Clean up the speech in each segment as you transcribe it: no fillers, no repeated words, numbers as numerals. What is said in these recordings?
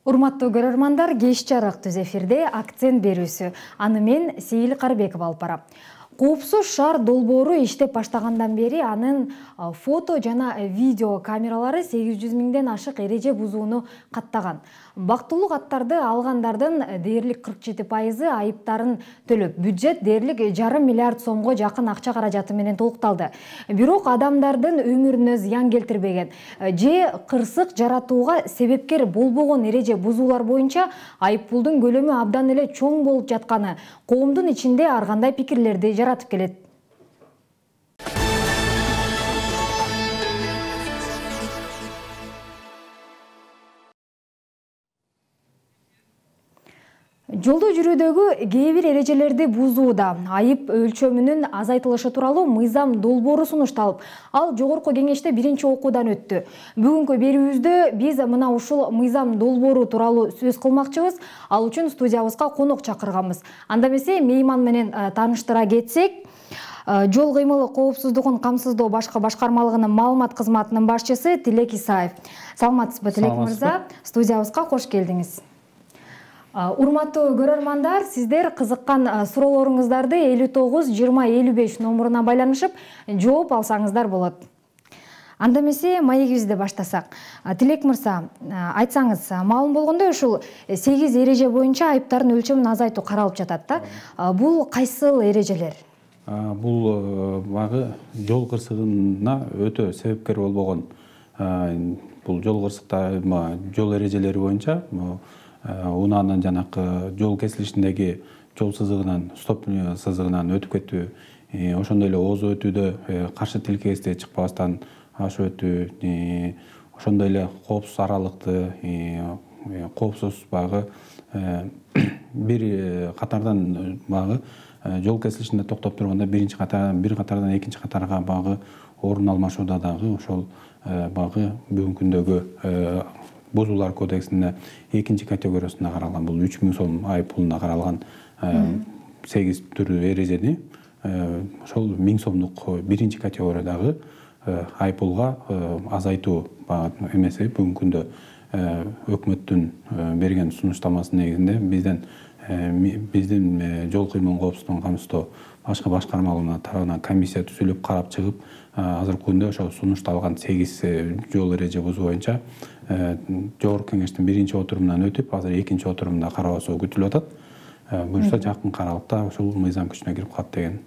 Урматтуу көрөрмандар, кеч жарык түз эфирде акцент берүүсү. Аны мен Сейил Карбеков алып барам. Коопсуз шаар долбоору иштеп баштагандан бери анын фото жана видео камералары 800 миңден ашык эреже бузууну каттаган. Бактылуу каттарды алгандардын дээрлик 47% айыптарын төлөп, бюджет дээрлик 1,5 миллиард сомго жакын акча каражаты менен толукталды. Бирок адамдардын өмүрүнө зыян келтирбеген же кырсык жаратууга себепкер болбогон эреже бузуулар боюнча айыппулдун көлөмү абдан эле чоң болуп жатканы коомдун ичинде ар кандай пикирлерди жаратып келет. Жолдо жүрүүдөгү кээ бир эрежелерди бузууда айып өлчөмүнүн азайтылышы тууралуу мыйзам долбоору сунушталып, ал жогорку кеңеште биринчи окуудан өттү. Бүгүнкү берүүбүздө биз мына ушул мыйзам долбоору тууралуу сөз кылмакчыбыз. Ал үчүн студиябызга конок чакырганбыз. Анда эмесе мейман менен тааныштыра кетсек, жол кыймылы коопсуздугун камсыздоо башкы башкармалыгынын маалымат кызматынын башчысы Тилек Исаев. Саламатсызбы, Тилек мырза? Студиябызга кош келдиңиз. Урматтуу көрөрмандар, сиздер кызыккан суроолоруңуздарды 59 20 55 номуруна байланышып жооп алсаңыздар болот. Анда эмесе маегибизди баштасак. Тилек мырза, айтсаңыз, маалым болгондой ушул 8 эреже боюнча айыптардын өлчөмүн азайтуу каралып жатат да. Бул кайсыл эрежелер? Бул багы жол кырсыгына өтө себепкер болбогон бул жол кырсыктары, жол эрежелери боюнча унаанын жанакы жол кесилишиндеги жол сызыгынан, стоп сызыгынан өтүп кетүү, ошондой эле ооз өтүүдө каршы тилкегесте чыкпастан ашып өтүү, ошондой эле коопсуз аралыкты, коопсуз багы бир катардан багы жол кесилишинде токтоп турганда бир катардан экинчи катарга багы орун алмашууда дагы ошол багы бүгүнкү күндөгү бузуулар кодексинде экинчи категориясында каралган, бул 3000 сом айыппулуна каралган 8 түрү эрежени ошол 1000 сомдук биринчи категориядагы айыппулга азайтуу эмеси бүгүнкү күндө өкмөттүн берген сунуштамасынын негизинде биздин жол кыймылын коопсуздугун камсыздоо башкы башкармалыгына тарабынан комиссия түзүлүп карап чыгып, азыркы күндө ошо сунушталган 8 жол эреже бузуу боюнча жогорку кеңештин биринчи отурумунан өтүп, азыр экинчи отурумда кароосу күтүлүп атат. Буюрса жакын аралыкта ушул мыйзам күчүнө кирип калат деген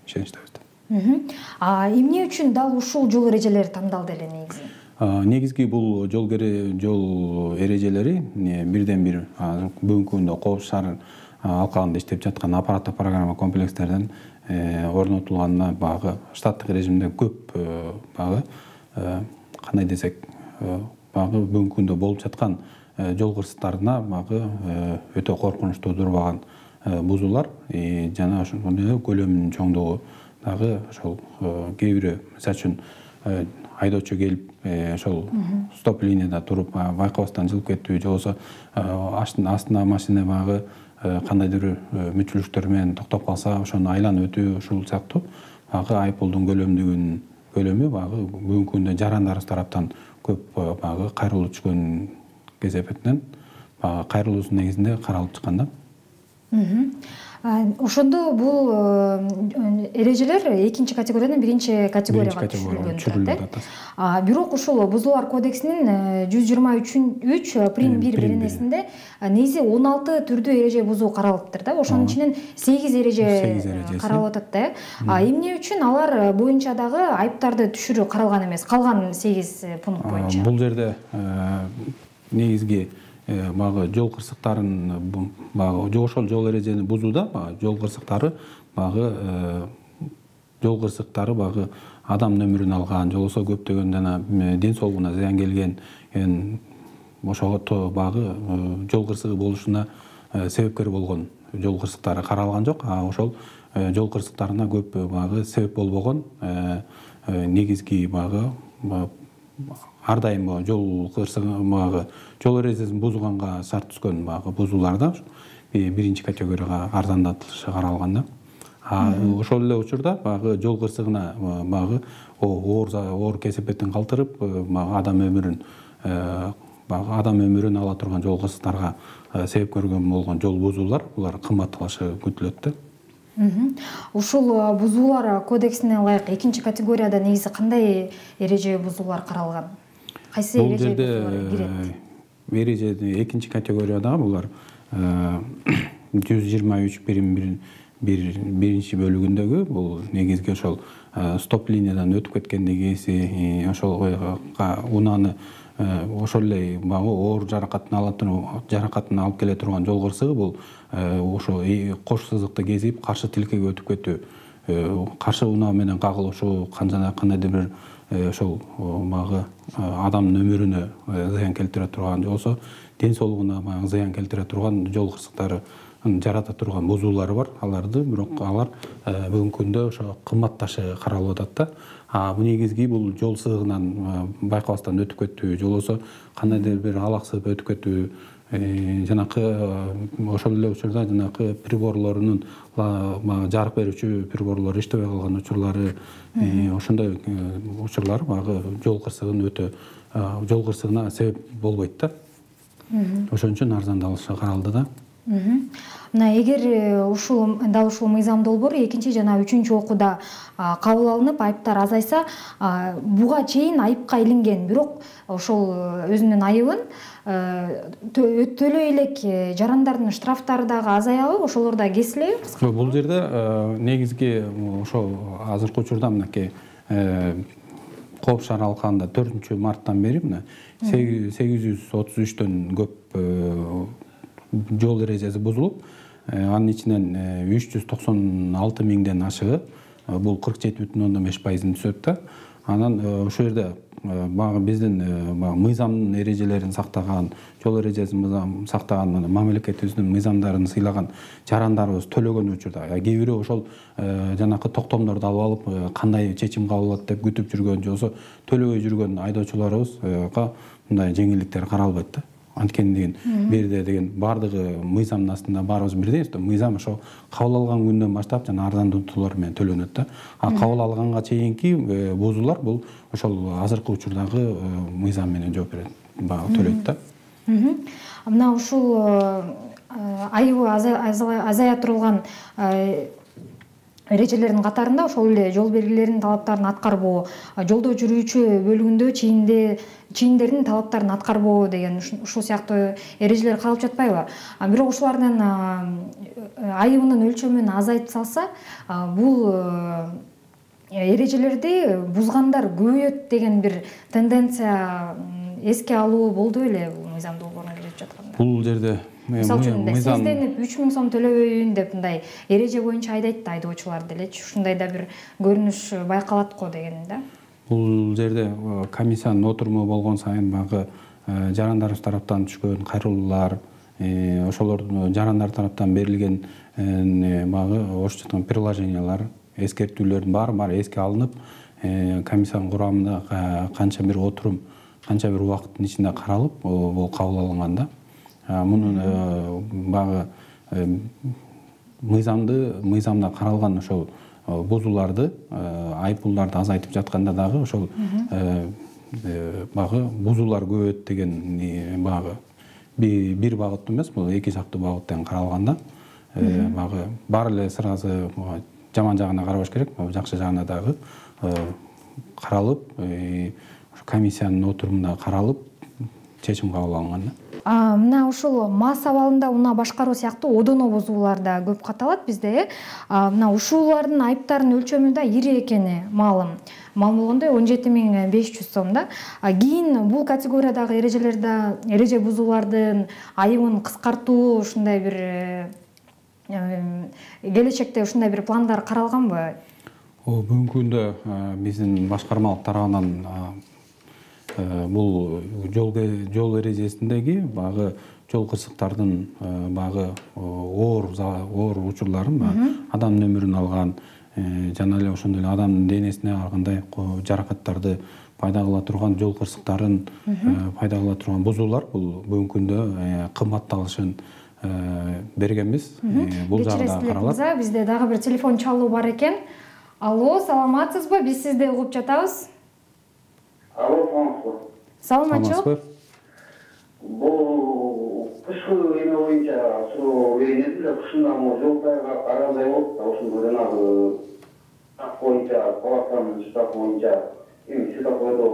ишеничтебиз. Эмне үчүн дал ушул жол эрежелери тандалды эле негизи? Негизги бул жол эрежелери бирден бир бүгүнкү күндө Коопсуз шаар алкагында иштеп жаткан аппараттык программа комплекстерден орнотулганына багы штаттык режимде көп багы кандай десек багы бүгүнкү күндө болуп жаткан жол кырсыктарына багы өтө коркунуч туудурбаган бузуулар жана ошондой көлөмүнүн чоңдугу дагы ошол кээ бири мисалы үчүн айдоочу келип ошол стоп линияда туруп байкабастан жылып кетүү, же болбосо астына машина багы кандайдыр бир мүчүлүктөр менен токтоп калса ошону айланып өтүү, ушул сыяктуу багы айыппулдун көлөмү багы бүгүнкү күндө жарандарыбыз тараптан көп багы кайрылуу түшкөн кесепетинен кайрылуусунун негизинде каралып чыккан да. Ошондо бул эрежелер экинчи категориядан биринчи категорияга түшүрүлгөн. Бирок ушул Бузуулар кодексинин 123 прим 1 беренесинде негизи 16 түрдүү эреже бузуу каралыптыр да. Ошонун ичинен 8 эреже каралып атат да. Эмне үчүн алар боюнча дагы айыптарды түшүрүү каралган эмес, калган 8 пункт боюнча? Бул жерде негизги багы жол кырсыктарын багы ошол жол эрежени бузууда жол кырсыктары багы адамдын өмүрүн алган, же болбосо көптөгөн жана ден соолугуна зыян келген ошого багы жол кырсыгы болушуна себепкер болгон жол кырсыктары каралган жок. Ошол жол кырсыктарына көп багы себеп болбогон негизги багы ар дайым жол кырсыгы багы жол эрежесин бузганга шарт түзгөн багы бузууларда биринчи категорияга арзандатылышы каралган да. Ошол эле учурда багы жол кырсыгына багы оор кесепетин калтырып, адам өмүрүн баягы адам өмүрүн ала турган жол кырсыктарга себеп көргөн болгон жол бузуулар булар кымбатталышы күтүлөт да. Ушул бузуулар кодексине ылайык экинчи категорияда негизи кандай эреже бузуулар каралган? Кайсы эреже кирет? Эреже экинчи категориядагы булар 123 бөлүгүндөгү бул негизги ошол стоп линиядан өтүп кеткендеги ошол унааны ошол эле баягы оор жаракатын алып келе турган жол кырсыгы бул ошо кош сызыкты кезип каршы тилкеге өтүп кетүү, каршы унаа менен кагылышуу, кандайдыр бир ошол баягы адамдын өмүрүнө зыян келтире турган болсо, ден соолугуна баягы зыян келтире турган жол кырсыктары жарата турган бузуулары бар. Аларды бирок алар бүгүнкү күндө ошо кымбатташы каралып атат да. Бул негизги бул жол сызыгынан байкабастан өтүп кетүү, же болбосо кандайдыр бир алаксып өтүп кетүү, жанакы ошол эле учурда жанакы приборлорунун жарык берүүчү приборлор иштебей калган учурлары, ошондой учурлар баягы жол кырсыгына себеп болбойт да. Ошон үчүн арзандалышы каралды да. Мына эгер дал ушул мыйзам долбоор экинчи жана үчүнчү окууда кабыл алынып, айыптар азайса, буга чейин айыпка илинген, бирок ошол өзүнүн айыбын төлөй элек жарандардын штрафтары дагы азаябы, ошолор да кесилеби? Бул жерде негизги ошол азыркы учурда мынакей Кооп шаар алкагында 4-марттан бери мына 833төн көп жол эрежеси бузулуп, анын ичинен 396 миңден ашыгы, бул 47,5%-ын түзөт да. Анан ошол жерде баягы биздин мыйзамдын эрежелерин сактаган, жол эрежесин сактаган, мамлекетибиздин мыйзамдарын сыйлаган жарандарыбыз төлөгөн учурда, кээ бири ошол жанакы токтомдорду алып алып, кандай чечим кабыл болот деп күтүп жүргөн, же болбосо төлөбөй жүргөн айдоочуларыбызга мындай жеңилдиктер каралбайт да. Анткени берде деген баардыгы мыйзамдын астында баарыбыз бирдей, мыйзам ошо кабыл алган күндөн баштап жана арзандатуулар менен төлөнөт да. Кабыл алганга чейинки бузуулар бул ошол азыркы учурдагы мыйзам менен жооп берет, баягы төлөйт да. Мына ушул айыбы азая турган эрежелердин катарында ошол эле жол белгилеринин талаптарын аткарбоо, жолдо жүрүүчү бөлүгүндө чийиндердин талаптарын аткарбоо деген ушул сыяктуу эрежелер калып жатпайбы? Бирок ушулардын айыбынын өлчөмүн азайтып салса, бул эрежелерди бузгандар көбөйөт деген бир тенденция эске алуу болду эле бул мыйзам долбооруна кирип жатканда. Бул жерде мисалы үчүн сизденип 3000 сом төлөбөйүн деп мындай эреже боюнча айдайт да айдоочулар делечи, ушундай да бир көрүнүш байкалат го деген да. Бул жерде комиссиянын отуруму болгон сайын баягы жарандарыбыз тараптан түшкөн кайрылуулар, ошолордун жарандар тараптан берилген баягы орусча айтканда приложениялар, эскертүүлөрдүн баары эске алынып, комиссиянын курамында канча бир отурум, канча бир убакыттын ичинде каралып, бул кабыл алынган да. Мунун баягы мыйзамда каралган ошол бузууларды, айыппулдарды азайтып жатканда дагы ошол баягы бузуулар көбөйөт деген баягы бир багыт эмес, бул эки жактуу багыттан каралганда, баягы баары эле сразу жаман жагына карабаш керек, жакшы жагына дагы каралып, комиссиянын отурумунда каралып, чечим кабыл алынган да. Мына ушул мас абалында унаа башкаруу сыяктуу одоно бузуулар да көп катталат бизде. Мына ушулардын айыптарынын өлчөмү да ири экени маалым. Маалым болгондой 17500 сом да. Кийин бул категориядагы эреже бузуулардын айыбын кыскартуу ушундай бир келечекте ушундай бир пландар каралганбы? Бүгүнкү күндө биздин башкармалык тарабынан бул жол эрежесиндеги баягы жол кырсыктардын баягы оор учурларын, адамдын өмүрүн алган, жана эле ошондой эле адамдын денесине ар кандай жаракаттарды пайда кыла турган жол кырсыктарын пайда кыла турган бузуулар бул бүгүнкү күндө кымбатталышын бергенбиз. Бул жагда каралат. Бизде дагы бир телефон чалуу бар экен. Алло, саламатсызбы? Биз сизди угуп жатабыз. Алло, Саламатчылык. кышкы эме боюнча суроо берилет эле, кышында могу жол тайгак арандай болуп да, ошондо жанагы штаб боюнча, палатанын штабы боюнча эми светофордо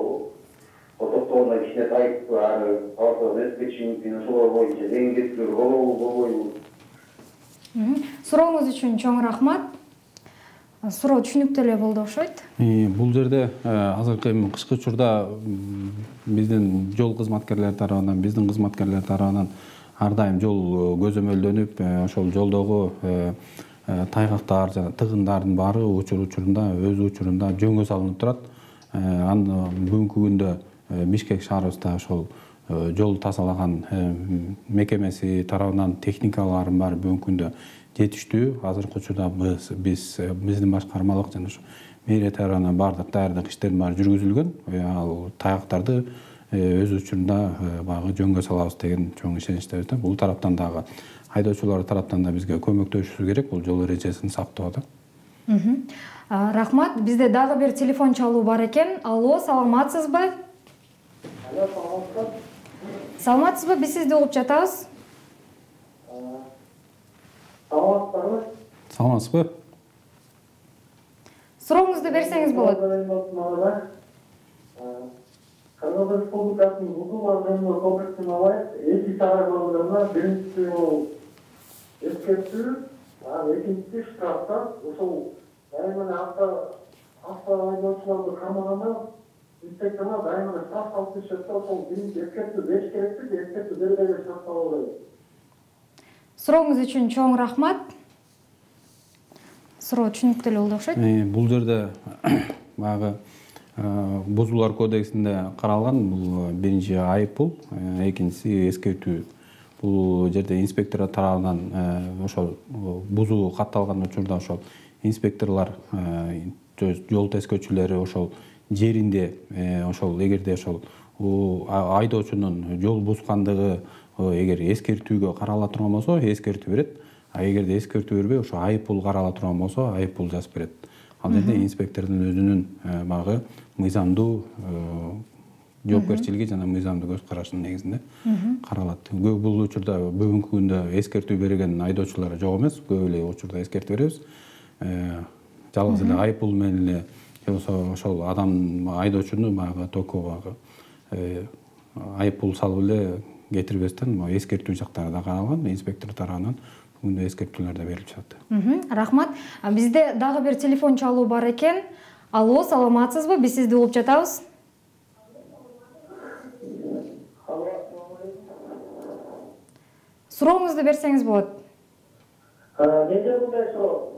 токтогондо кичине тайып ары палатадан өтүп кетиши мүмкүн, ошолор боюнча жеңилдетүүлөр болобу, болбойбу? Сурооңуз үчүн чоң рахмат. Суроо түшүнүктүү эле болду окшойт. Бул жерде азыркы эми кышкы учурда биздин жол кызматкерлери тарабынан, биздин кызматкерлер тарабынан ар дайым жол көзөмөлдөнүп, ошол жолдогу тайгактар жана тыгындардын баары учурунда өз учурунда жөнгө салынып турат. Бүгүнкү күндө Бишкек шаарыбызда ошол жол тазалаган мекемеси тарабынан техникалардын баары бүгүнкү күндө жетиштүү. Азыркы учурда биздин башкармалык жана ошо мэрия тарабынан баардык даярдык иштердин баары жүргүзүлгөн. Ал тайгактарды өз учурунда баягы жөнгө салабыз деген чоң ишеничтебиз да. Бул тараптан дагы айдоочулар тараптан да бизге көмөктөшүшү керек бул жол эрежесин сактоодо. Рахмат. Бизде дагы бир телефон чалуу бар экен. Алло, саламатсызбы? Алло, саламатсызбы? Саламатсызбы? Биз сизди угуп жатабыз. Саламатсызбы? Саламатсызбы? Сурооңузду берсеңиз болот. Кыргыз Республикасынын Бузулар комплексин алайык. 2 шаар болгондо биринчиси эскертүү, экинчиси штрафтар. Ошол дайыма автоайдоочуларды камаганда инспекторлор дайыма штраф салып турушат да, ошол биринчи эскертүү бериш керекпи, эскертүү бербей штраф салабы? Сурооңуз үчүн чоң рахмат. Суроо түшүнүктүү эле болду окшойт. Бул жерде баягы Бузулар кодексинде каралган, бул биринчи айып бул, экинчиси эскертүү. Бул жерде инспекторлор тарабынан ошол бузуу катталган учурда ошол инспекторлор жол тескөөчүлөрү ошол жеринде ошол эгерде ошол айдоочунун жол бузгандыгы эгер эскертүүгө карала турган болсо эскертүү берет. Эгерде эскертүү бербей ошо айып пул карала турган болсо айып пул жазып берет. Ал жерде инспектордун өзүнүн багы мыйзамдуу жоопкерчилиги жана мыйзамдуу көз карашынын негизинде каралат. Бул учурда бүгүнкү күндө эскертүү берген айдоочулар жок эмес. Көп эле учурда эскертүү беребиз. Жалгыз эле айып пул менен эле же болбосо ошол адам айдоочуну баягы токо баягы айып пул салып эле кетирбестен эскертүү жактары да каралган, инспектор тарабынан бүгүндө эскертүүлөр да берилип жатат. Рахмат. Бизде дагы бир телефон чалуу бар экен. Алло, саламатсызбы? Биз сизди угуп жатабыз. Сурооңузду берсеңиз болот. Менде мындай суроо.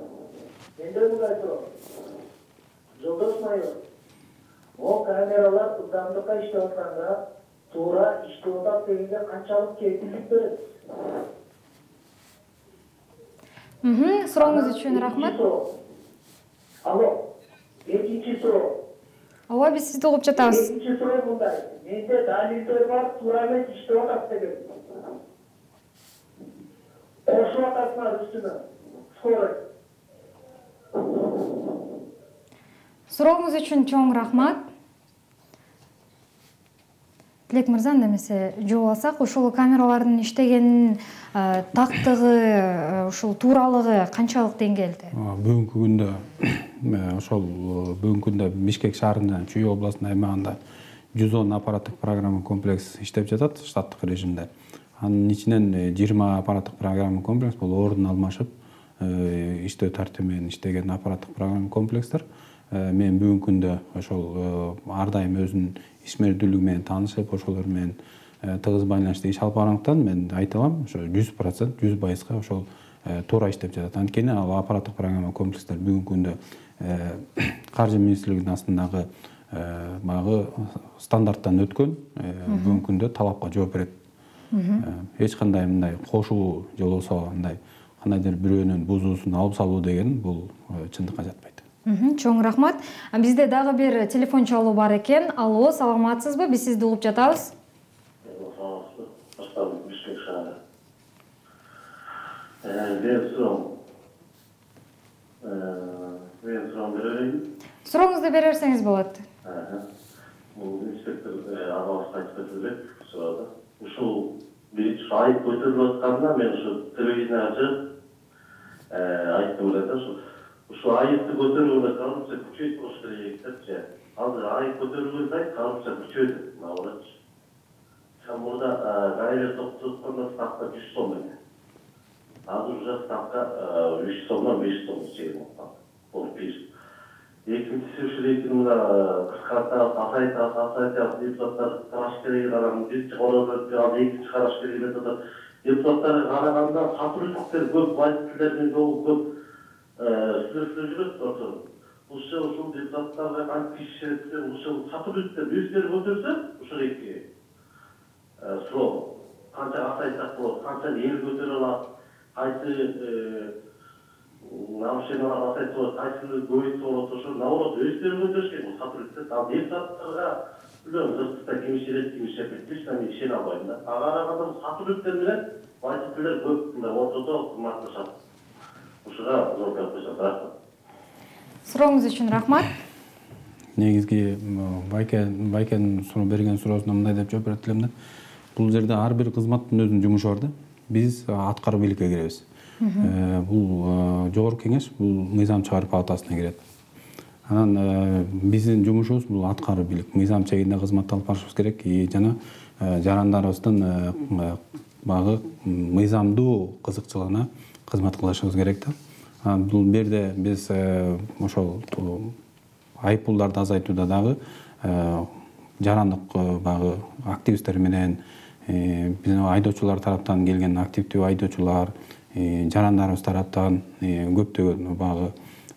Жолдош майор. Могу камералар ылдамдыкка иштеп атканда туура иштеп атат дегенге канчалык кепилдик берет? Сурооңуз үчүн рахмат. Алло. Экинчи суроо. Ооба, биз сизди угуп жатабыз. Экинчи суроо мындай. Менде далилдер бар, туура эмес иштеп атат деген. Кошуп атасыңар үстүнө. Скорость. Сурооңуз үчүн чоң рахмат. Тилек мырза, немесе жооп алсак, ошол камералардын иштегенин тактыгы, ушул тууралыгы канчалык деңгээлде? Бүгүнкү күндө Бишкек шаарында, Чүй областынын аймагында 110 аппараттык программа комплекс иштеп жатат штаттык режимде. Анын ичинен 20 аппараттык программа комплекс бул ордун алмашып иштөө тартиби менен иштеген аппараттык программа комплекстер. Мен бүгүнкү күндө ошол ар дайым өзүнүн ишмердүүлүгү менен таанышып, ошолор менен тыгыз байланышта иш алып баргандыктан мен айта алам, ошо 100%, 100%га ошол туура иштеп жатат. Анткени ал аппараттык программа комплекстер бүгүнкү күндө каржы министрлигинин астындагы баягы стандарттан өткөн, бүгүнкү күндө талапка жооп берет. Эч кандай мындай кошуу же болбосо андай кандайдыр бирөөнүн бузуусун алып салуу деген бул чындыкка жатпайт. Чоң рахмат. Бизде дагы бир телефон чалуу бар экен. Алло, саламатсызбы? Биз сизди угуп жатабыз. Саламатсызбы? Башталып Бишкек шаары. Мен сурам берейин. Сурооңузду бере берсеңиз болот. Бул инспектор агабыз айтып кетти элек суроодо. Ушул биринчи ушу айып көтөрүлүп атканда мен ушу телевиденияга чыгып айттым да ушу айыпты көтөрүүгө коррупция күчөйүп болуш керек депчи. Азыр айып көтөрүлгөн сайын коррупция күчөйдү. Мына Чамурда гаиле топтоткондо ставка 100 сом экен. Азыр уже ставка 3 сомдон 5 сом чейин болуп бир. Экинчиси ушу рейтинг мына кыскартып азайтып депутаттар караш керек анан биринчи кароодо экинчи караш керек деп атат. Депутаттарга караганда сатуулуктар көп, водительдер менен жолу көп сүрөттөр жүрөт болсо. Ушул депутаттарга кантип иш керек, ушул сатуулуктар өздөрү көтөрсө, ушул эки суроо канча азайтсак болот, канча эл көтөрө алат, кайсы нарушениялар азайтып болот, кайсыны көбөйтүп болот, ошо наоборот өздөрү көтөрүш керек бул сатуулуктар. Ал депутаттарга билем, журналисттер ким ишенет, ким ишенбейт, мен ишене албайм да. Ага караганда сатуулуктар менен водительдер көп мындай отурду кымбатташат. Ушуга зор көп коюшат. Рахмат. Сурооңуз үчүн рахмат. Негизги Байкен берген суроосуна мындай деп жооп берет элем да. Бул жерде ар бир кызматтын өзүнүн жумушу бар да. Биз аткаруу бийликке киребиз. Бул жогорку кеңеш бул мыйзам чыгаруу палатасына кирет. Анан биздин жумушубуз бул аткаруу бийлик. Мыйзам чегинде кызмат алып барышыбыз керек жана жарандарыбыздын багы мыйзамдуу кызыкчылыгына кызмат кылышыбыз керек да. Бул жерде биз ошол айыппулдарды азайтууда дагы жарандык багы активисттер менен биздин айдоочулар тараптан келген активдүү айдоочулар, жарандарыбыз тараптан көптөгөн багы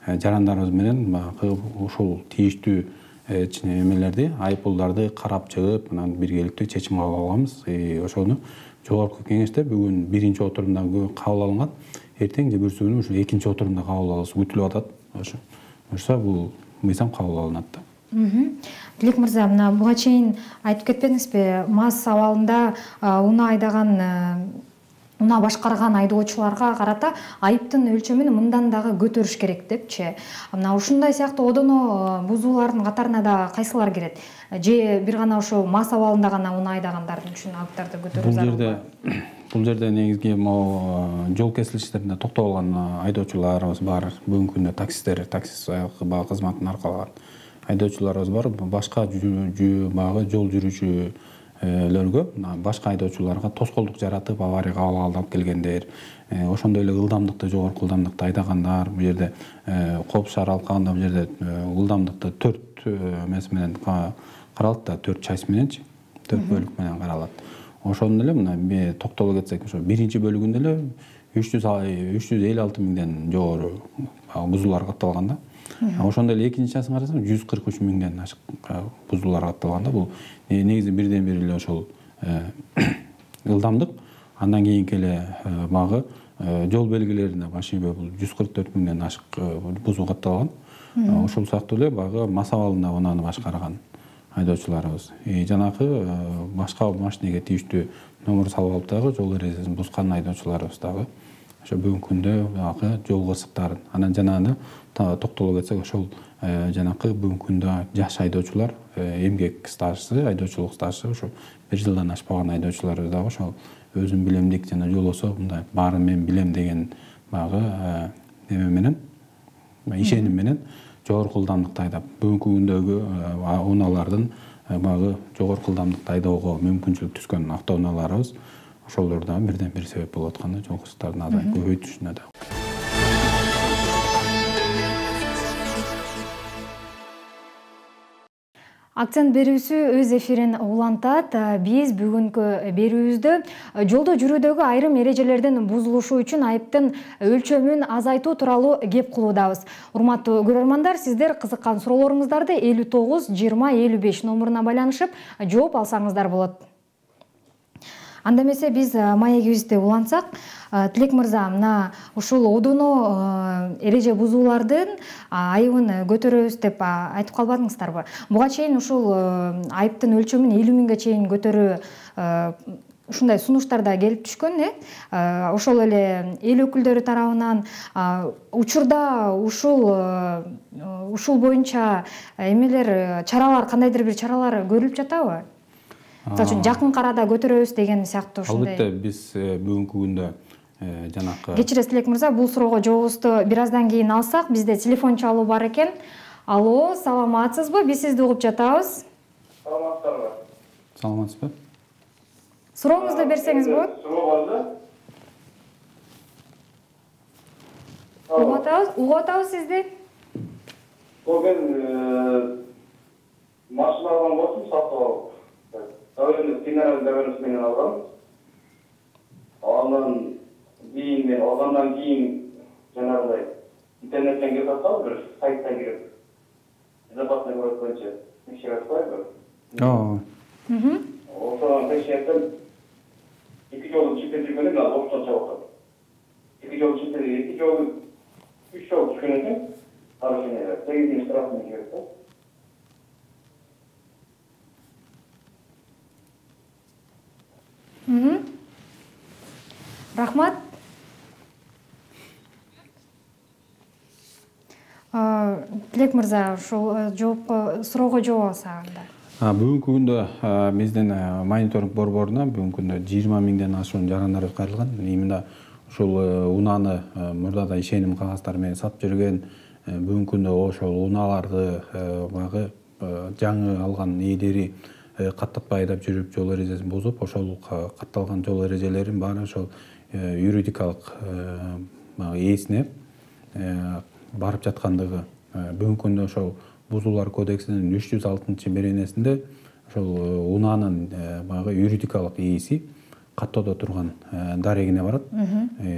жарандарыбыз менен багы ушул тийиштүү эмелерди, айыппулдарды карап чыгып, анан биргеликтүү чечим кабыл алганбыз. Ошону жогорку кеңеште бүгүн биринчи отурумда кабыл алынган. Эртең же бүрсү күнү ушул экинчи отурумда кабыл алышы күтүлүп атат. Ошо бул мыйзам кабыл алынат да. Тилек мырза, мына буга чейин айтып кетпедиңизби, МАЗ абалында унаа башкарган айдоочуларга карата айыптын өлчөмүн мындан дагы көтөрүш керек депчи. Мына ушундай сыяктуу одоно бузуулардын катарына да кайсылар кирет? Же бир гана ошо МАЗ абалында гана унаа айдагандардын үчүн айыптарды көтөрүү зарыл? Бул жерде негизги жол кесилиштеринде токтоп алган айдоочуларыбыз бар. Бүгүнкү күндө таксисттер, такси кызматын аркалаган айдоочуларыбыз бар. Башка багы жол жүрүүчүлөргө, башка айдоочуларга тоскоолдук жаратып, аварияга алып келгендер, ошондой эле ылдамдыкты, жогорку ылдамдыкта айдагандар, бул жерде Коопсуз шаар алкагында бул жерде ылдамдыкты 4 эмеси менен каралат да, 4 часть мененчи, 4 бөлүк менен каралат. Ошондо эле мына токтоло кетсек, ошо биринчи бөлүгүндө эле 356 миңден жогору бузуулар катталган да. Ошондой эле экинчи частын карасак 143 миңден ашык бузуулар катталган да. Бул негизи бирден бир эле ошол ылдамдык, андан кийинки эле багы жол белгилерине башыйбы бул 144 миңден ашык бузуу катталган. Ошол сыяктуу эле багы МАЗ абалында унааны башкарган айдоочуларыбыз. Жанакы башка машинеге тийиштүү номер салып алып дагы жол эрежесин бузган айдоочуларыбыз дагы ошо бүгүнкү күндө багы жол кырсыктарын, анан жанагы токтоло кетсек, ошол жанакы бүгүнкү күндө жаш айдоочулар, эмгек стажсы, айдоочулук стажсы ошо 1 жылдан ашпаган айдоочуларыбыз дагы ошол өзүм билемдик жана жолосо мындай баарын мен билем деген багы эме менен, ишеним менен жогорку ылдамдыкта айдап, бүгүнкү күндөгү унаалардын багы жогорку ылдамдыкта айдоого мүмкүнчүлүк түзгөн автоунааларыбыз ошолор да бирден бир себеп болуп атканда жол кырсыктардын азайып көбөйтүшүнө да. Акцент берүүсү өз эфирин улантат. Биз бүгүнкү берүүбүздө жолдо жүрүүдөгү айрым эрежелердин бузулушу үчүн айыптын өлчөмүн азайтуу тууралуу кеп кылуудабыз. Урматтуу көрөрмандар, сиздер кызыккан суроолоруңуздарды 59 20 55 номуруна байланышып жооп алсаңыздар болот. Анда эмесе биз маегибизди улантсак, Тилек мырза, мына ушул одоно эреже бузуулардын айыбын көтөрөбүз деп айтып калбадыңыздарбы? Буга чейин ушул айыптын өлчөмүн 50 миңге чейин көтөрүү ушундай сунуштар да келип түшкөн, ошол эле эл өкүлдөрү тарабынан учурда ушул боюнча эмелер, чаралар, кандайдыр бир чаралар көрүлүп жатабы? Мисалы үчүн жакын арада көтөрөбүз деген сыяктуу ушундай. Албетте биз бүгүнкү күндө жанакы Кечиресиз Тилек мырза, бул суроого жообубузду бир аздан кийин алсак, бизде телефон чалуу бар экен. Алло, саламатсызбы? Биз сизди угуп жатабыз. Саламатсызбы? Саламатсызбы? Сурооңузду берсеңиз болот. Суроо барбы? Угуп атабыз сизди. Мен машина алган болчумун, сатып алып. Давление федералдык давлениеси менен алгам. Андан кийин жанагындай интернеттен кирип аткам, бир сайттан кирип. Безопасный город боюнча текшерип аткайбы? Ошону текшертип, 2 жолу чиптеп жүргөндө мен оштон чыгып аттым. 2 жолу чиптеп, 2 жолу 3 жолу түшкөн экен. Нарушение 8 штрафын кирип да. Рахмат. Тилек мырза, ушул суроого жооп алсаңыз. Бүгүнкү күндө биздин мониторинг борборуна бүгүнкү күндө 20 миңден ашуун жарандар кайрылган. Именно ушул унааны мурдада ишеним кагазтары менен сатып жүргөн, бүгүнкү күндө ошол унааларды баягы жаңы алган ээлери каттатпай айдап жүрүп жол эрежесин бузуп, ошол катталган жол эрежелерин баары ошол юридикалык ээсине барып жаткандыгы. Бүгүнкү күндө ошол Бузуулар кодексинин 306-беренесинде ошол унаанын баягы юридикалык ээси каттоодо турган дарегине барат.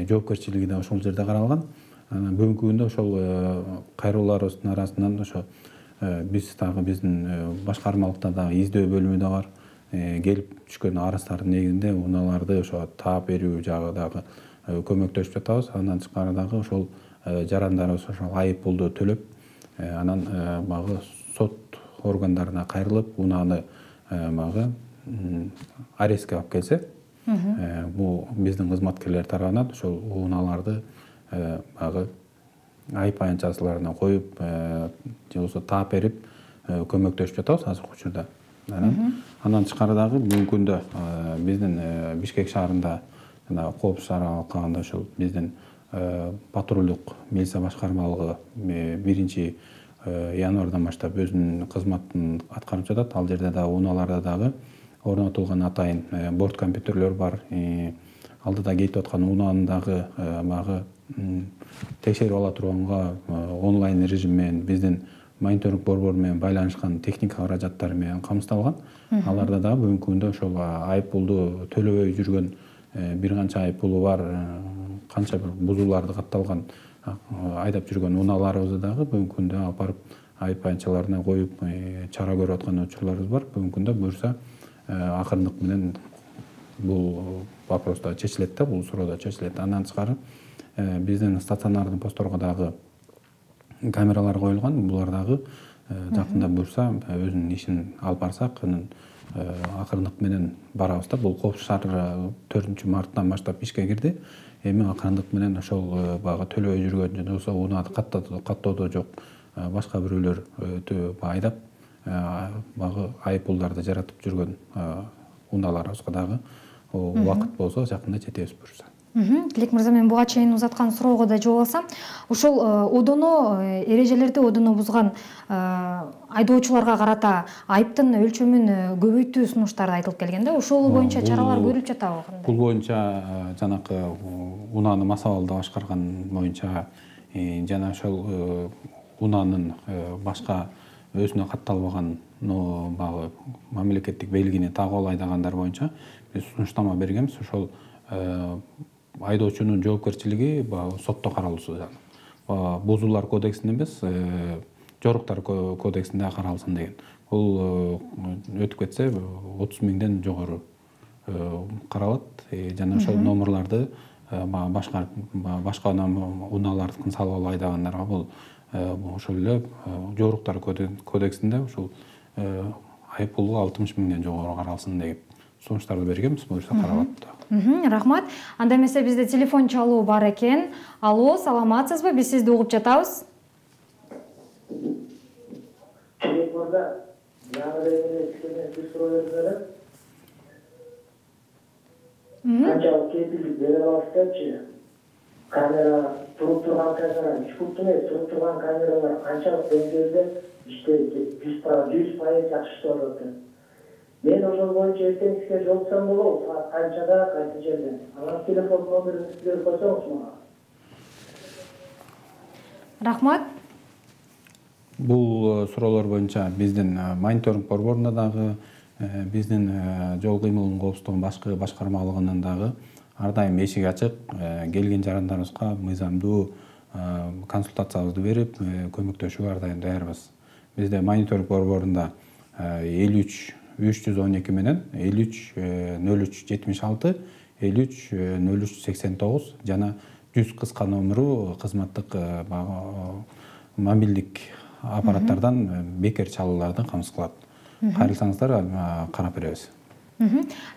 Жоопкерчилиги да ошол жерде каралган. Бүгүнкү күндө ошол кайрылууларыбыздын арасынан ошо биз дагы биздин башкармалыкта дагы издөө бөлүмү да бар. Келип түшкөн арыздардын негизинде унааларды ошо таап берүү жагы дагы көмөктөшүп жатабыз. Андан тышкары дагы ошол жарандарыбыз ошол айып пулду төлөп, анан багы сот органдарына кайрылып, унааны багы арестке алып келсе, бул биздин кызматкерлер тарабынан ошол унааларды багы айып аянтчасыларына коюп, же болбосо таап берип көмөктөшүп жатабыз азыркы учурда. Андан тышкары дагы бүгүнкү күндө биздин Бишкек шаарында жана Коопсуз шаарга алкаганда ошол биздин патрулдук милиция башкармалыгы 1 январдан баштап өзүнүн кызматын аткарып жатат. Ал жерде дагы унааларда дагы орнотулган атайын борт компьютерлөр бар. Алдыда кетип аткан унааны дагы багы текшерип ала турганга онлайн режим менен биздин мониторинг борбору менен байланышкан техника каражаттары менен камсыздалган. Аларда дагы бүгүнкү күндө ошол айып пулду төлөбөй жүргөн бир канча айып пулу бар, канча бир бузууларды катталган айдап жүргөн унааларыбызды дагы бүгүнкү күндө алып барып айып аянтчаларына коюп чара көрүп аткан учурларыбыз бар. Бүгүнкү күндө буюрса акырындык менен бул вопрос да чечилет да, бул суроо да чечилет. Андан тышкары биздин стационардын постторго дагы камералар коюлган. Булар дагы жакында буюрса өзүнүн ишин алып барсак, анын акырындык менен барабыз да. Бул Коопсуз шаар 4-марттан баштап ишке кирди. Эми акырындык менен ошол багы төлөбөй жүргөн же болбосо унааны каттоодо жок башка бирөөлөр айдап багы айып пулдарды жаратып жүргөн унааларыбызга дагы убакыт болсо жакында жетебиз буюрса. Тилек мырза, мен буга чейин узаткан суроого да жооп алсам, ошол эрежелерди одоно бузган айдоочуларга карата айыптын өлчөмүн көбөйтүү сунуштары айтылып келген да. Ошол боюнча чаралар көрүлүп жатабы кандай? Бул боюнча жанакы унааны масабалда башкарган боюнча жана ошол унаанын башка өзүнө катталбаган багы мамлекеттик белгини тагып алып айдагандар боюнча биз сунуштама бергенбиз. Ошол айдоочунун жоопкерчилиги сотто каралуусу. Бузуулар кодексинде эмес, жоруктар кодексинде каралсын деген. Бул өтүп кетсе 30 миңден жогору каралат. Жана ошол номерларды башка унаалардыкын салып алып айдагандарга бул ошол эле жоруктар кодексинде ушул айып пулу 60 миңден жогору каралсын деген сунуштарды бергенбиз. Буюрса каралат. Рахмат. Анда эмесе бизде телефон чалуу бар экен. Алло, саламатсызбы? Биз сизди угуп жатабыз. канчалык кепилдик бере аласыздарчы? Камера туруп турган камера, ишкуптун туруп турган камералар канчалык деңгээлде иштейт? 100% жакшы иштеп атат. Мен ошол боюнча эртең сизге жолуксам болобу? Саат канчада, кайсы жерден? Анан телефон номериңизди берип койсоңуз мага. Рахмат. Бул суроолор боюнча биздин мониторинг борборунда дагы, биздин жол кыймылынын коопсуздугунун башкы башкармалыгынан дагы ар дайым эшик ачык, келген жарандарыбызга мыйзамдуу консультациябызды берип, көмөктөшүүгө ар дайым даярбыз. Бизде мониторинг борборунда 53 312 менен 53 03 76, 53 03 89 жана 100 кыска номеру кызматтык мобилдик аппараттардан бекер чалууларды камсыз кылат. Кайрылсаңыздар карап беребиз.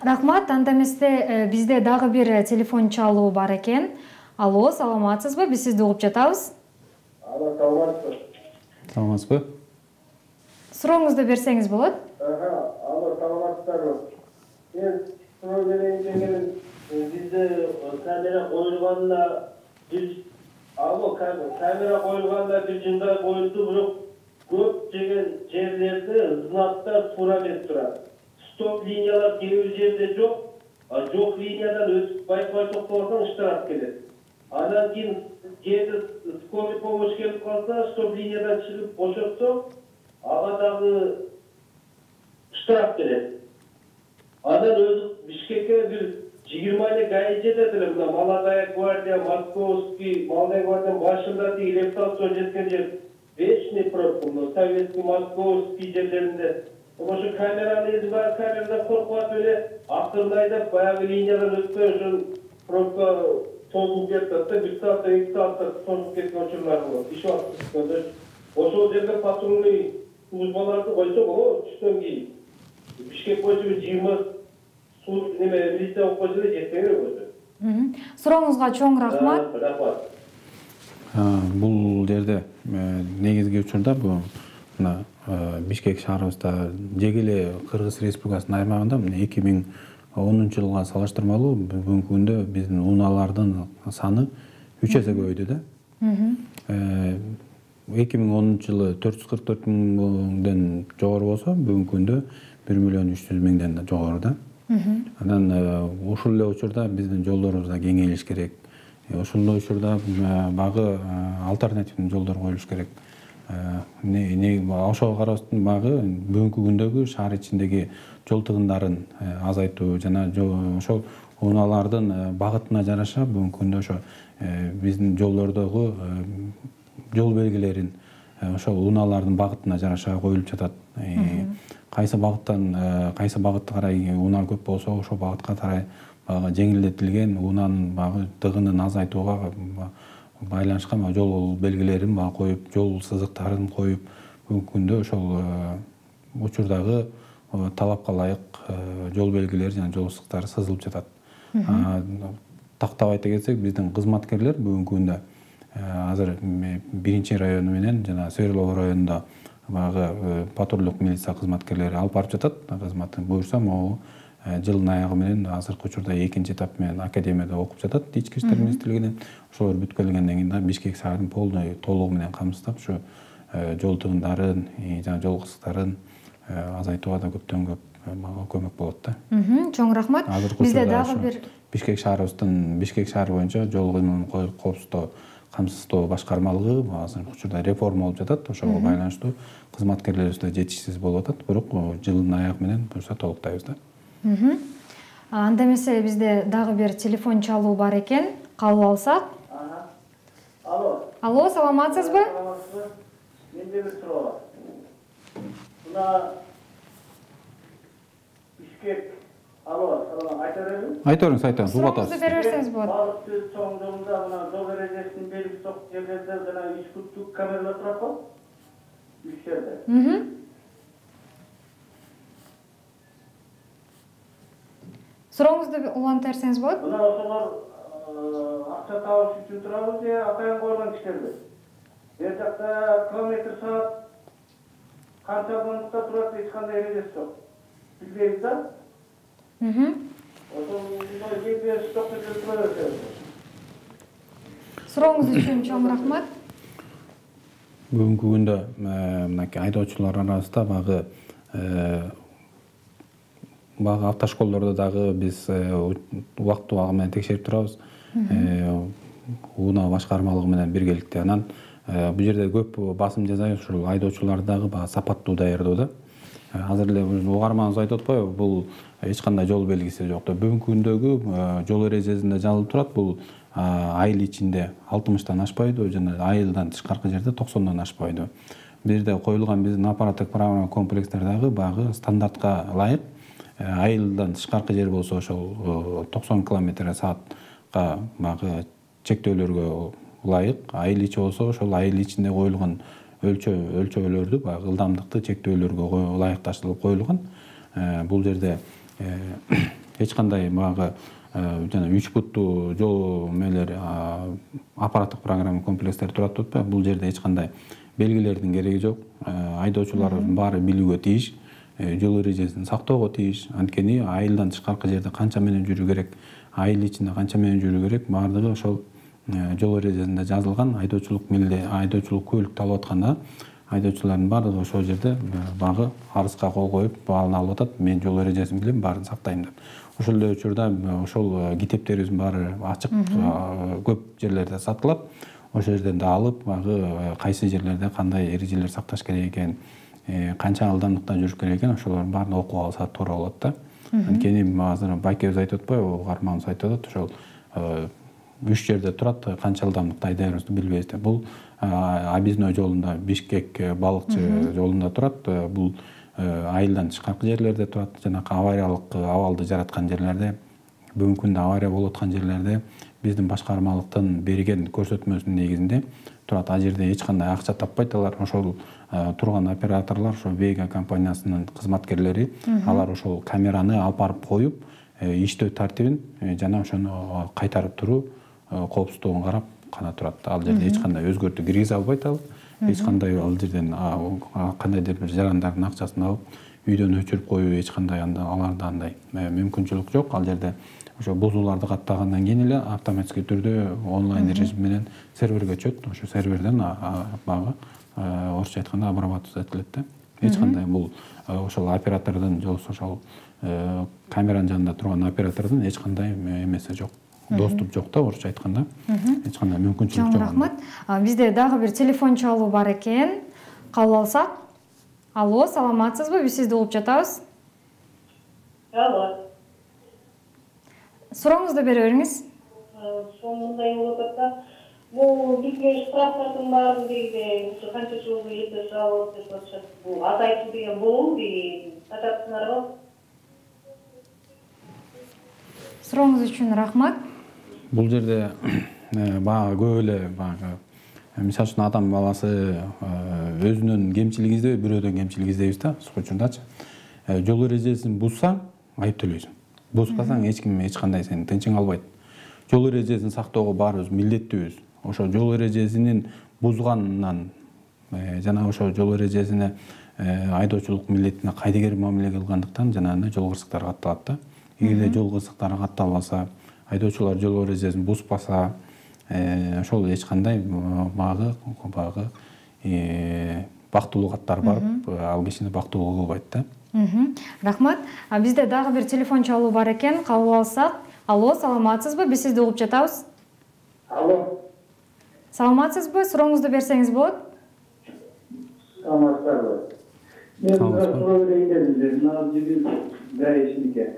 Рахмат. Анда эместе бизде дагы бир телефон чалуу бар экен. Алло, саламатсызбы? Биз сизди угуп жатабыз. Алло, саламатсызбы? Саламатсызбы? Сурооңузду берсеңиз болот. Алло, саламатсыздарбы? Мен суроо берейин дегеним, бизде камера коюлганда камера коюлганда бир жылдай коюлду, бирок көп жерлерде знактар туура берип турат. Стоп линиялар кээ бир жерде жок, жок линиядан өтүп байкабай токтогондон штраф келет. Андан кийин жерде скорый помощь келип калса, стоп линиядан чыгып бошотсо, ага дагы штраф келет. Андан өзү Бишкекке бир 20 эле гаи жетет эле, мына Молодая гвардия, Московский, Молодая гвардиянын башында тиги репутация жеткен жер вечный пробка, советский, Московский жерлеринде. Ошо камераны эзи бар, камерадан коркуп атып эле акырын айдап баягы линиядан өтпөй ошол пробка созулуп кетет да, 1 саатта 2 саатта созулуп кеткен учурлар болот. Иш убакыт. Ошол жерде патрульный службаларды койсок, түштөн кийин Бишкек боюнча 20 милиция болуп койсо жетпей койсо. Сурооңузга чоң рахмат. Рахмат. Бул жерде негизги учурда бул мына Бишкек шаарыбызда деги эле Кыргыз Республикасынын аймагында 2010-жылга салыштырмалуу бүгүнкү күндө биздин унаалардын саны 3 эсе көбөйдү да. 2010-жылы 444 миңден жогору болсо, бүгүнкү күндө 1.300.000ден жогору да. Анан ушул эле учурда биздин жолдорубузда кеңейлиш керек. Ошондой учурда багы альтернативдүү жолдор коюлуш керек. Ошого карабастан багы бүгүнкү күндөгү шаар ичиндеги жол тыгындарын азайтуу жана ошол унаалардын багытына жараша бүгүнкү күндө ошо биздин жолдордогу жол белгилерин ошол унаалардын багытына жараша коюлуп жатат. Кайсы багытты карай унаа көп болсо, ошол багытка карай жеңилдетилген унаанын багы тыгынын азайтууга байланышкан жол белгилерин коюп, жол сызыктарын коюп, бүгүнкү күндө ошол учурдагы талапка ылайык жол белгилери жана жол сызыктары сызылып жатат. Тактап айта кетсек, биздин кызматкерлер бүгүнкү күндө азыр 1 району менен жана Свердлов районунда багы патрулдук милиция кызматкерлери алып барып жатат кызматын. Буюрса, могу жылдын аягы менен азыркы учурда 2-чи этап менен академияда окуп жатат ички иштер министрлигинен. Ошолор бүткөлгөндөн кийин Бишкек шаарын толугу менен камсыздап ушу жол тыгындарын жана жол кысыктарын азайтууга да көптөн көп көмөк болот да. Чоң рахмат. Бизде дагы бир Бишкек шаары боюнча жол кыймылын коопсуздоо камсыздоо башкармалыгы азыркы учурда реформа болуп жатат. Ошого байланыштуу кызматкерлерибиз да жетишсиз болуп атат. Бирок жылдын аягы менен буюрса толуктайбыз да. Анда эмесе бизде дагы бир телефон чалуу бар экен. Кабыл алсак. Алло, саламатсызбы? Менде бир суроо бар. Мына Бишкек. Алло, салам, айта беремби? Айта бериңиз, угуп атабыз. Сурооңузду бере берсеңиз болот. Балык түз чоң жолунда мына жол эрежесинин белгиси жок жерлерде жана ишкуттук камералар турат го? Үч жерде. Сурооңузду улантып берсеңиз болот. Мына ошолор акча табыш үчүн турабы же атайын койгон кишилерби? Бер жакта километр саат канча жылдыкта турат, эч кандай эрежеси жок. Билбейбиз да? Сурооңуз үчүн чоң рахмат. Бүгүнкү күндө мынакей айдоочулар арасында багы автошколдордо дагы биз убакыт менен текшерип турабыз. УНА башкармалыгы менен биргеликте. Анан бул жерде көп басым жасайбыз ушул айдоочуларды дагы сапаттуу даярдоо да. Азыр эле угарманыбыз айтып атпайбы, бул эч кандай жол белгиси жок. Бүгүнкү күндөгү жол эрежесинде жазылып турат, бул айыл ичинде 60-тан ашпайдыбы жана айылдан тышкаркы жерде 90-дан ашпайдыбы. Бул жерде коюлган биздин аппараттык программа комплекстер дагы багы стандартка ылайык. Айылдан тышкаркы жер болсо ошол 90 км/саатка багы чектөөлөргө ылайык. Айыл ичи болсо ошол айыл ичинде коюлган өлчөөлөрдү багы ылдамдыкты чектөөлөргө ылайыкташтырылып коюлган. Бул жерде эч кандай багы жана 3 буттуу жол мелер аппараттык программа комплекстери турат деп атпайбы. Бул жерде эч кандай белгилердин кереги жок. Айдоочулардын баары билүүгө тийиш, жол эрежесин сактоого тийиш. Анткени айылдан тышкаркы жерде канча менен жүрүү керек, айыл ичинде канча менен жүрүү керек, баардыгы ошол жол эрежесинде жазылган. Айдоочулук көлүктү алып атканда айдоочулардын баардыгы ошол жерде багы арызга кол коюп, баарын алып атат. Мен жол эрежесин билем, баарын сактайм деп. Ошол эле учурда ошол китептерибиздин баары ачык, көп жерлерде сатылат. Ошол жерден да алып, багы кайсы жерлерде кандай эрежелер сакташ керек экен, канча ылдамдыкта жүрүш керек экен, ошолордун баарын окуп алса туура болот да. Анткени азыр байкебиз айтып атпайбы, угарманыбыз айтып атат, ошол 3 жерде турат, канча ылдамдыкта айдайбызды билбейбиз деп. Бул объездной жолунда, Бишкек балыкчы жолунда турат. Бул айылдан тышкаркы жерлерде турат, жанакы авариялык абалды жараткан жерлерде, бүгүнкү күндө авария болуп аткан жерлерде биздин башкармалыктын берген көрсөтмөсүнүн негизинде турат. Ал жерде эч кандай акча таппайт алар. Ошол турган операторлор, ошол Вега компаниясынын кызматкерлери, алар ошол камераны алып барып коюп, иштөө тартибин жана ошону кайтарып туруу коопсуздугун карап гана турат. Ал жерде эч кандай өзгөртүү киргизе албайт ал. Эч кандай ал жерден кандайдыр бир жарандардын акчасын алып үйдөн өчүрүп коюу эч кандай аларда андай мүмкүнчүлүк жок. Ал жерде ошо бузууларды каттагандан кийин эле автоматический түрдө онлайн режим менен серверге өчөт. Ошо серверден багы орусча айтканда обрабатываться этилет да. Эч кандай бул ошол оператордун же болбосо ошол камеранын жанында турган оператордун эч кандай эмеси жок. Доступ жок да, орусча айтканда. Эч кандай мүмкүнчүлүк жок. Рахмат. Бизде дагы бир телефон чалуу бар экен. Кабыл алсак. Алло, саламатсызбы? Биз сизди угуп жатабыз. Алло. Сурооңузду бере бериңиз. Мындай болуп атат да. Бул бизге штрафтардын баарын дегиде ушу канча жолу элде салып деп атышат. Бул азайтуу деген болобу дейм. Атасыңарбы? Сурооңуз үчүн рахмат. Бул жерде багы көп эле багы мисалы үчүн адам баласы өзүнүн кемчилиги издебей, бирөөдөн кемчилик издейбиз да, учурдачы. Жол эрежесин бузсаң, айып төлөйсүң. Бузбасаң эч ким эч кандай сени тынчың албайт. Жол эрежесин сактоого баарыбыз милдеттүүбүз. Ошо жол эрежесинин бузганынан жана ошо жол эрежесине айдоочулук милдетине кайдыгер мамиле кылгандыктан жанагындай жол кырсыктары катталат да. Эгерде жол кырсыктары катталбаса, айдоочулар жол эрежесин бузбаса, ошол эч кандай багы бактылуу каттар барып, ал кишини бактылуу кылбайт да. Рахмат. Бизде дагы бир телефон чалуу бар экен. Кабыл алсак. Алло, саламатсызбы? Биз сизди угуп жатабыз. Алло. Саламатсызбы? Сурооңузду берсеңиз болот. Саламатсызбы? Мен суроо берейин дедим. Мына жигит гаишнике.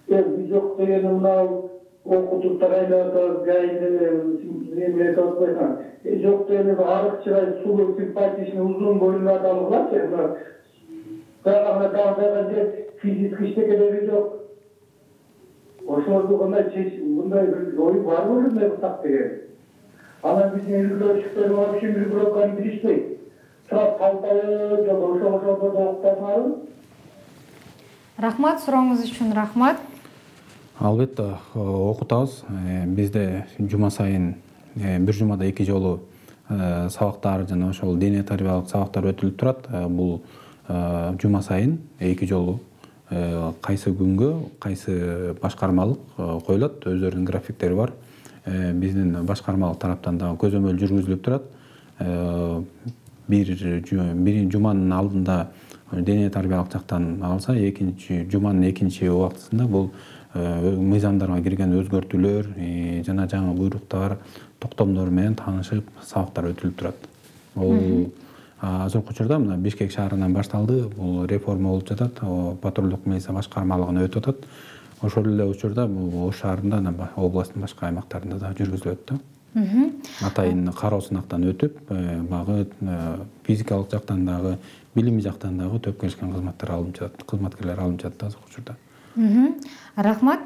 Биз жок дегени мынау окутуптар айларда гаиде айтып койсоң. Жок дегени арык чырай, сулуу, симпатичный, узун бойлуу адам болчу. Физически иштекелери жок. Ошолорду кандай мындай ой барбы мындай так деген. Анан биздин үлгүлөшүктөр вообще үлгүлөккөн билишпейт. Турат калталы жок, ошолордо октосаңарбы? Рахмат, сурооңуз үчүн рахмат. Албетте окутабыз. Бизде жума сайын бир жумада 2 жолу сабактар жана ошол дене тарбиялык сабактар өтүлүп турат. Бул жума сайын 2 жолу кайсы күнгө кайсы башкармалык коюлат, өздөрүнүн графиктери бар. Биздин башкармалык тараптан дагы көзөмөл жүргүзүлүп турат. Бир жуманын алдында дене тарбиялык жактан алса, жуманын экинчи убактысында бул мыйзамдарга кирген өзгөртүүлөр жана жаңы буйруктар, токтомдор менен таанышып, сабактар өтүлүп турат. Бул азыркы учурда мына Бишкек шаарынан башталды. Бул реформа болуп жатат. Патрулдук милиция башкармалыгына өтүп атат. Ошол эле учурда бул Ош шаарында, областтын башка аймактарында да жүргүзүлөт да. Атайын кароо сынактан өтүп, багы физикалык жактан дагы, билими жактан дагы төп келишкен кызматкерлер алынып жатат азыркы учурда. Рахмат.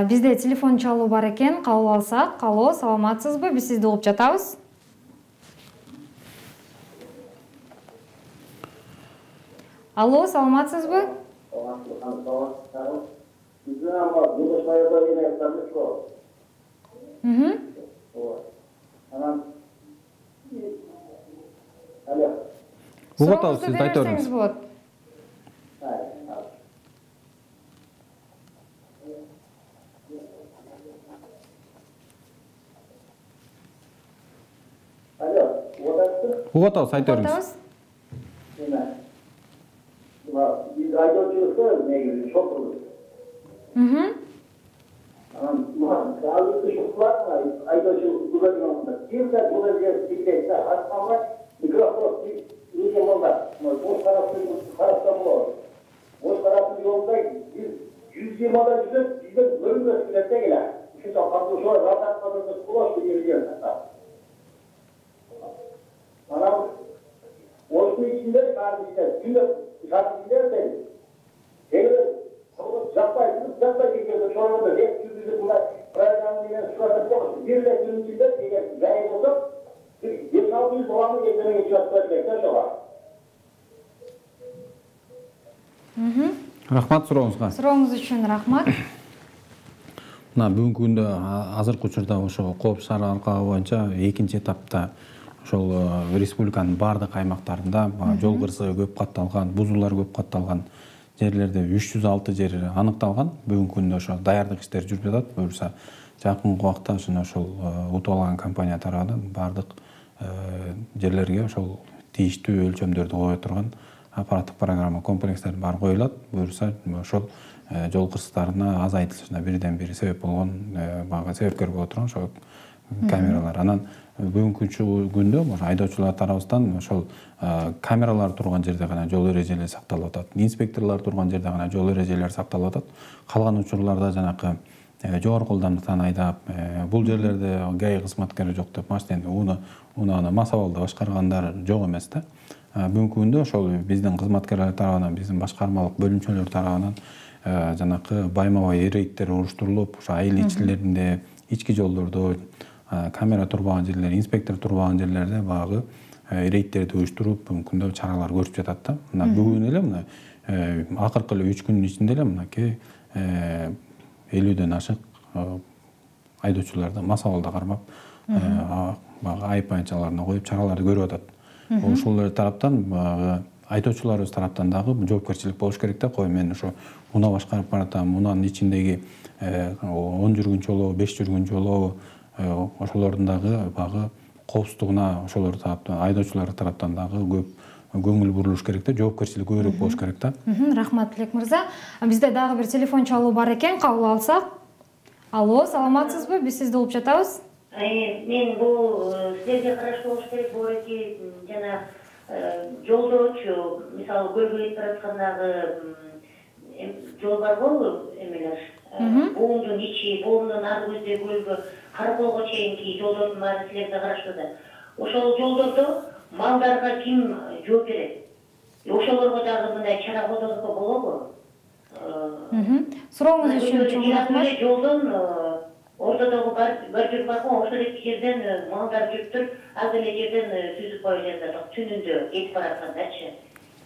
Бизде телефон чалуу бар экен, кабыл алсак. Алло, саламатсызбы? Биз сизди угуп жатабыз. Алло, саламатсызбы? Угуп атабыз, сиз айта бериңиз. Угуп атабыз, айта бериңиз. Biz aydoçulukta negizli çok olur. Sağlıklı şoklar mı? Aydoçuluk kullanılmakta. Bir de kullanacağız bir de hastalar mikrofon bir olmaz. Boş taraftan bu olur. Boş tarafın yolunda 120 ada bizden bölüm sürekli gelen. Şu kapatı sonra rahat kadar kulaş bir yeri gelmez. Bana Osman içinde kardeşler, günde kardeşler de şeyler, yapay geçiyordu, sonra da hep yüzüzü bunlar programıyla suratı konuştu. Bir de günün içinde gayet olsa, 5-600 dolarını getirmeye geçiyorlar, bekler var. Рахмат сурооңузга. Сурооңуз үчүн рахмат. Мына бүгүнкү күндө азыркы учурда ошо Коопсуз шаар алкагы боюнча экинчи этапта ошол республиканын баардык аймактарында жол кырсыгы көп катталган, бузуулар көп катталган жерлерде 306 жер аныкталган. Бүгүнкү күндө ошо даярдык иштери жүрүп жатат. Буюрса жакынкы убакта ошол утуп алган компания тарабынан баардык жерлерге ошол тийиштүү өлчөмдөрдү кое турган аппараттык программа комплекстер бар коюлат. Буюрса ошол жол кырсыктарына азайтылышына бирден бири себеп болгон, себепкер боло турган ошол камералар. Анан бүгүнкү күндө айдоочулар тарабыбыздан ошол камералар турган жерде гана жол эрежелери сакталып атат. Инспекторлор турган жерде гана жол эрежелери сакталып атат. Калган учурларда жанакы жогорку ылдамдыктан айдап, бул жерлерде ГАИ кызматкери жок деп машинени унааны масабалда башкаргандар жок эмес да. Бүгүнкү күндө ошол биздин кызматкерлер тарабынан, биздин башкармалык бөлүмчөлөр тарабынан жанакы байма-бай рейдтер уруштурулуп, ошо айыл ичилеринде, ички жолдордо камера турбаган жерлер, инспектор турбаган жерлерде багы рейдтерди уюштуруп, бүгүнкү күндө чаралар көрүп жатат да. Мына бүгүн эле мына акыркы эле 3 күндүн ичинде эле мынакей 50ден ашык айдоочуларды масабалда кармап, багы айып айынчаларына коюп чараларды көрүп атат. Ошол тараптан айдоочуларыбыз тараптан дагы жоопкерчилик болуш керек да. Кой мен ошо унаа башкарып баратам, унаанын ичиндеги 10 жүргүнчү жолу, 5 жүргүнчү жолу ошолордун дагы багы коопсуздугуна ошолор тараптан, айдоочулар тараптан дагы көп көңүл бурулуш керек да, жоопкерчилик көбүрөөк болуш керек да. Рахмат Тилек мырза. Бизде дагы бир телефон чалуу бар экен, кабыл алсак. Алло, саламатсызбы? Биз сизди угуп жатабыз. Мен бул силерге караштуу болуш керек болот жана жолдочу, мисалы көлгө кетип бараткандагы жол бар болбу эмелер. Буундун ичи, буундун ар көзү көлгө Караколго чейинки жолдордун баары силерге караштуу да. Ошол жолдордо малдарга ким жооп берет? Ошолорго дагы мындай чара колдонуп болобу? Сурооңуз үчүн чоң рахмат. Жолдон ортодогу бар жүрүп барган ошол эки жерден малдар жүрүп туруп, ал эле жерден түзүп коюп жатат, түнүндө кетип бараткандачы.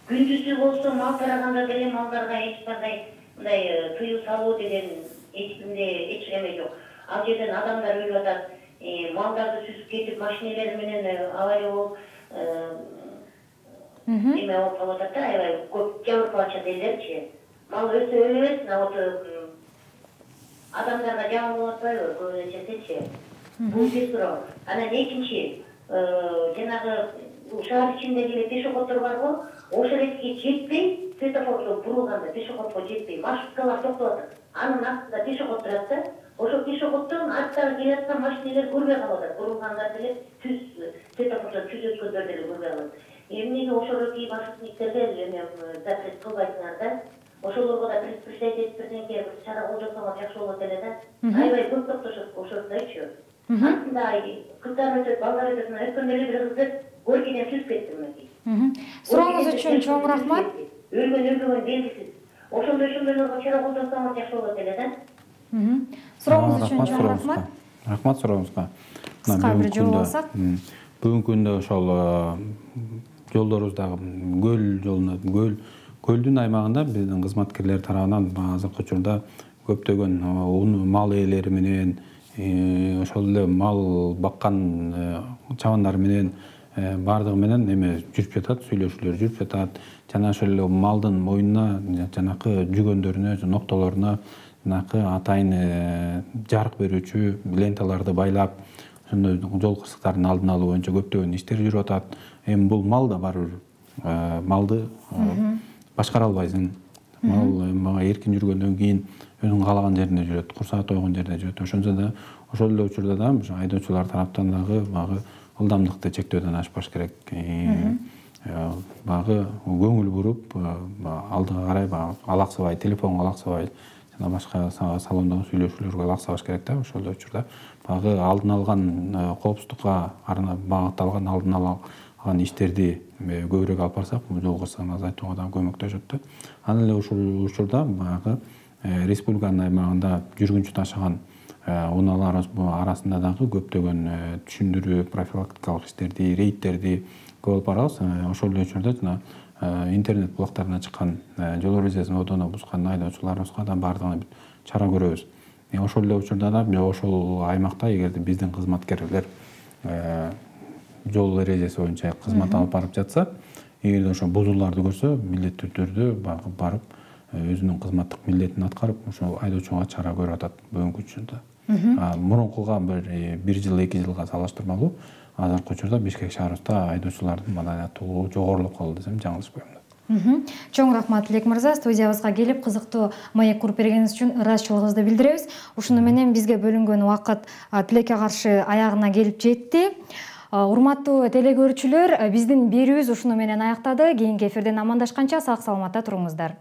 Күндүзү болсо мал тараганда деле малдарга эч кандай мындай тыюу салуу деген эч неме жок. Ал жерден адамдар өлүп атат, малдарды сүзүп кетип, машинелер менен авария болуп, эме болуп калып атат да, аябай көп жабыркап атышат элдерчи. мал өсө бербесин, адамдарга жаман болуп атпайбы көбүнчөсүчү. Бул бир суроо. Анан экинчи, жанагы шаар ичиндеги эле пешеходдор барбы? Ошол жерге жетпей, светофордо бурулганда пешеходго жетпей, маршруткалар токтоп атат. Анын артында пешеход турат да. Ошол пешеходдон арттагы келаткан машинелер көрбөй калып атат. Бурулганда деле түз светофордон түз өткөндөр деле көрбөй калат. Эмнеге ошолордуки маршрутниктерге эме запрет кылбайсыңар да? Ошолорго да предупреждать этип бирденке бир чара колдо жасаңар жакшы болот эле да. Аябай көп токтошот ошондойчу. Артында кыздар өтөт, балдар өтөт. Өткөндө эле бир кызды горкиден түзүп кетти мынакей. Сурооңуз үчүн чоң рахмат. Өлгөн белгисиз. Ошондойлорго чара колдо жасаңар жакшы болот эле да. Сурооңуз үчүн чоң рахмат. Рахмат сурооңузга. Кыска бир жооп алсак. Бүгүнкү күндө ошол жолдорубуздагы көлдүн аймагында биздин кызматкерлер тарабынан азыркы учурда көптөгөн мал ээлери менен ошол эле мал баккан чабандар менен баардыгы менен эме жүрүп жатат, сүйлөшүүлөр жүрүп жатат. Жана ошол эле малдын мойнуна жанакы жүгөндөрүнө, ноктолоруна жанакы атайын жарык берүүчү ленталарды байлап, ошондой жол кырсыктарын алдын алуу боюнча көптөгөн иштер жүрүп атат. Эми бул мал да барбыр малды башкара албайсың. Мал эркин жүргөндөн кийин өзүнүн каалаган жеринде жүрөт, курсагы тойгон жерде жүрөт. Ошончо да ошол эле учурда да айдоочулар тараптан дагы багы ылдамдыкты чектөөдөн ашпаш керек. Багы көңүл буруп, алдыга карай алаксабай, телефонго алаксабай, жана башка салондогу сүйлөшүүлөргө алаксабаш керек да. Ошол эле учурда багы алдын алган коопсуздукка багытталган алдын алган иштерди көбүрөөк алып барсак, бул жол кырсыгын азайтууга да көмөктөшөт да. Анан эле ушул учурда багы республиканын аймагында жүргүнчү ташыган унаалар арасында дагы көптөгөн түшүндүрүү, профилактикалык иштерди, рейдтерди көп алып барабыз. Ошол эле учурда жана интернет блоктарына чыккан жол эрежесин одоно бузган айдоочуларыбызга да баардыгына чара көрөбүз. Ошол эле учурда да ошол аймакта эгерде биздин кызматкерлер жол эрежеси боюнча кызмат алып барып жатса, эгерде ошо бузууларды көрсө, милдеттүү түрдө барып өзүнүн кызматтык милдетин аткарып, ошо айдоочуга чара көрүп атат бүгүнкү учурда. Мурункуга бир жыл, 2 жылга салыштырмалуу азыркы учурда Бишкек шаарыбызда айдоочулардын маданияттуулугу жогорулуп калды десем жаңылышпайм. Чоң рахмат Тилек мырза, студиябызга келип кызыктуу маек куруп бергениңиз үчүн ыраазычылыгыбызды билдиребиз. Ушуну менен бизге бөлүнгөн убакыт тилекке каршы аягына келип жетти. Урматтуу телекөрүүчүлөр, биздин берүүбүз ушуну менен аяктады. Кийинки эфирден амандашканча сак саламатта туруңуздар.